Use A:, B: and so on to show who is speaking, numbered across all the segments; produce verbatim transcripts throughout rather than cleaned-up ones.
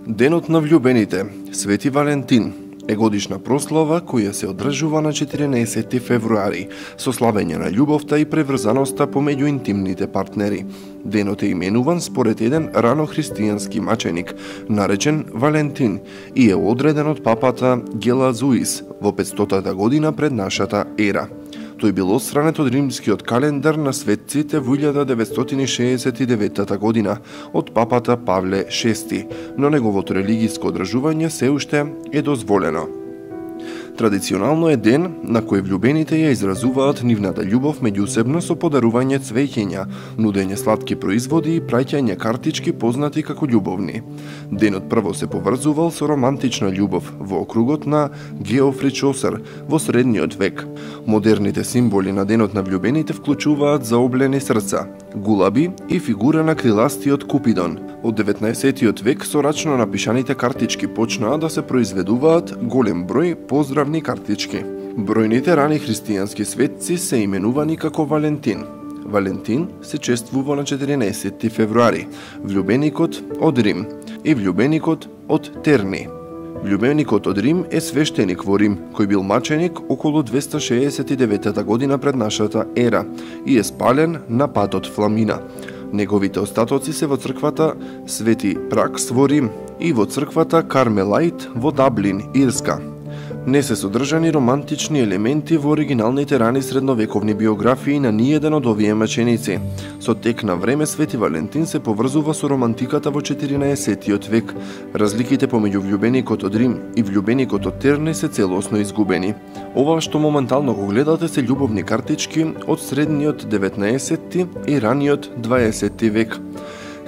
A: Денот на влюбените, Свети Валентин, е годишна прослава која се одржува на четиринаесетти февруари, со славење на љубовта и преврзаноста помеѓу интимните партнери. Денот е именуван според еден рано христијански маченик, наречен Валентин, и е одреден од папата Гелазуис во петстотата година пред нашата ера. Тој бил отстранет од римскиот календар на светците во илјада деветстотини шеесет и девета година од папата Павле шести, но неговото религиско одржување се уште е дозволено. Традиционално е ден на кој влюбените ја изразуваат нивната љубов меѓусебно со подарување цвеќиња, нудење сладки производи и праќање картички познати како љубовни. Денот прво се поврзувал со романтична љубов во округот на Геофри Чосер во средниот век. Модерните символи на денот на влюбените вклучуваат заоблени срца, гулаби и фигура на криластиот Купидон. Од деветнаесеттиот век со рачно напишаните картички почнаа да се произведуваат голем број поздравни картички. Бројните рани христијански светци се именувани како Валентин. Валентин се чествува на четиринаесетти февруари, влюбеникот од Рим и влюбеникот од Терни. Влюбеникот од Рим е свештеник во Рим, кој бил маченик околу двеста шеесет и девета година пред нашата ера и е спален на патот Фламина. Неговите остатоци се во црквата Свети Пракс во Рим и во црквата Кармелаит во Даблин, Ирска. Не се содржани романтични елементи во оригиналните рани средновековни биографии на ниеден од овие маченици. Со тек на време Свети Валентин се поврзува со романтиката во четиринаесеттиот век. Разликите помеѓу влюбеникот од Рим и влюбеникот од Терни се целосно изгубени. Ова што моментално го гледате се љубовни картички од средниот деветнаесетти и раниот дваесетти век.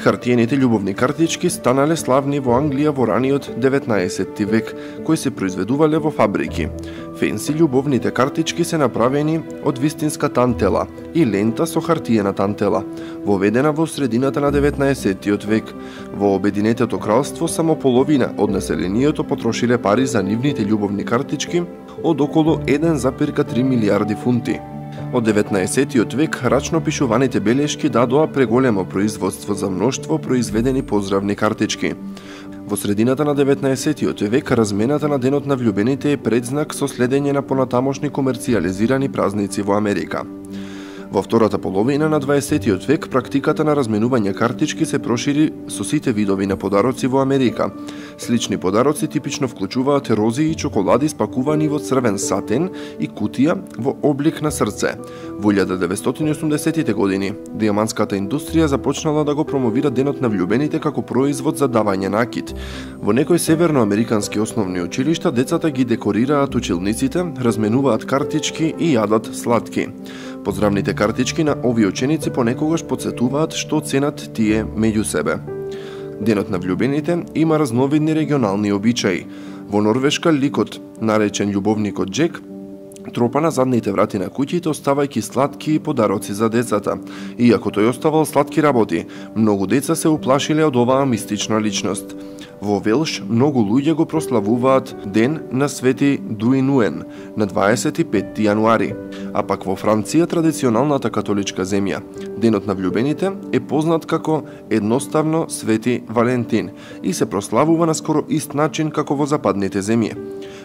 A: Хартиените љубовни картички станале славни во Англија во раниот деветнаесетти век, кои се произведувале во фабрики. Фенси љубовните картички се направени од вистинска тантела и лента со хартиена тантела, воведена во средината на деветнаесеттиот век. Во Обединетото кралство само половина од населението потрошиле пари за нивните љубовни картички од околу еден запирка три милијарди фунти. Од деветнаесеттиот век рачно пишуваните белешки дадоа преголемо производство за мноштво произведени поздравни картички. Во средината на деветнаесеттиот век размената на денот на влюбените е предзнак со следење на понатамошни комерцијализирани празници во Америка. Во втората половина на дваесеттиот век практиката на разменување картички се прошири со сите видови на подароци во Америка. Слични подароци типично вклучуваат рози и чоколади спакувани во црвен сатен и кутија во облик на срце. Во илјада деветстотини и осумдесеттите години дијамантската индустрија започнала да го промовира денот на влюбените како производ за давање накид. Во некои северноамерикански основни училишта децата ги декорираат училниците, разменуваат картички и јадат сладки. Поздравните картички на овие ученици понекогаш потсетуваат што ценат тие меѓу себе. Денот на влюбените има разновидни регионални обичаи. Во Норвешка ликот, наречен љубовникот Джек, тропа на задните врати на куќите оставајќи сладки подароци за децата. Иако тој оставал сладки работи, многу деца се уплашиле од оваа мистична личност. Во Велш многу луѓе го прославуваат Ден на Свети Дуинуен на дваесет и петти јануари, а пак во Франција, традиционалната католичка земја, денот на влюбените е познат како едноставно Свети Валентин и се прославува на скоро ист начин како во западните земји.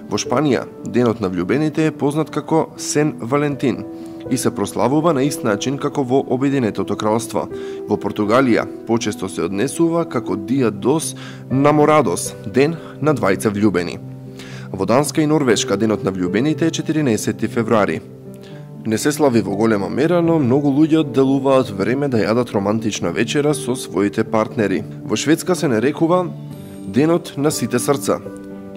A: Во Шпанија, денот на влюбените е познат како Сен Валентин и се прославува на ист начин како во Обединетото кралство. Во Португалија почесто се однесува како Дија дос Наморадос, ден на двајца влюбени. Во Данска и Норвешка денот на влюбените е четиринаесетти февруари. Не се слави во голема мера, но многу луѓе одделуваат време да јадат романтична вечера со своите партнери. Во Шведска се нарекува Денот на сите срца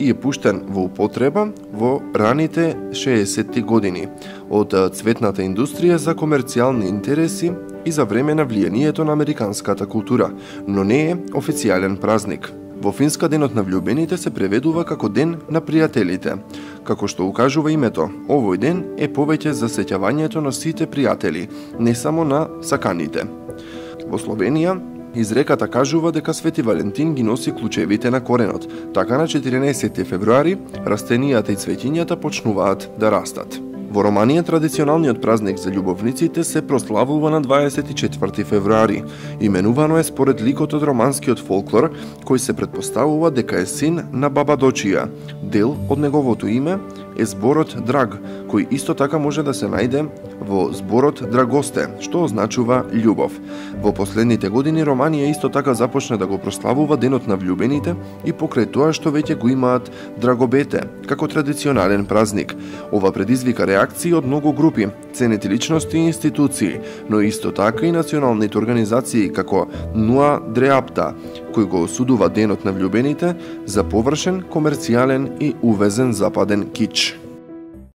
A: и е пуштен во употреба во раните шеесетти години од цветната индустрија за комерцијални интереси и за време на влијанието на американската култура, но не е официјален празник. Во Финска денот на влюбените се преведува како Ден на пријателите. Како што укажува името, овој ден е повеќе за сеќавањето на сите пријатели, не само на саканите. Во Словенија изреката кажува дека Свети Валентин ги носи клучевите на коренот. Така на четиринаесетти февруари растенијата и цвеќињата почнуваат да растат. Во Романија традиционалниот празник за љубовниците се прославува на дваесет и четврти февруари. Именувано е според ликот од романскиот фолклор, кој се претпоставува дека е син на баба Дочија. Дел од неговото име е зборот драг, кој исто така може да се најде во зборот драгосте, што означува љубов. Во последните години Романија исто така започна да го прославува денот на влюбените и покрај тоа што веќе го имаат драгобете како традиционален празник. Ова предизвика реакции од многу групи, ценети личности и институции, но исто така и националните организации како Нуа Дреапта, кој го осудува денот на влюбените за површен, комерцијален и увезен западен кич.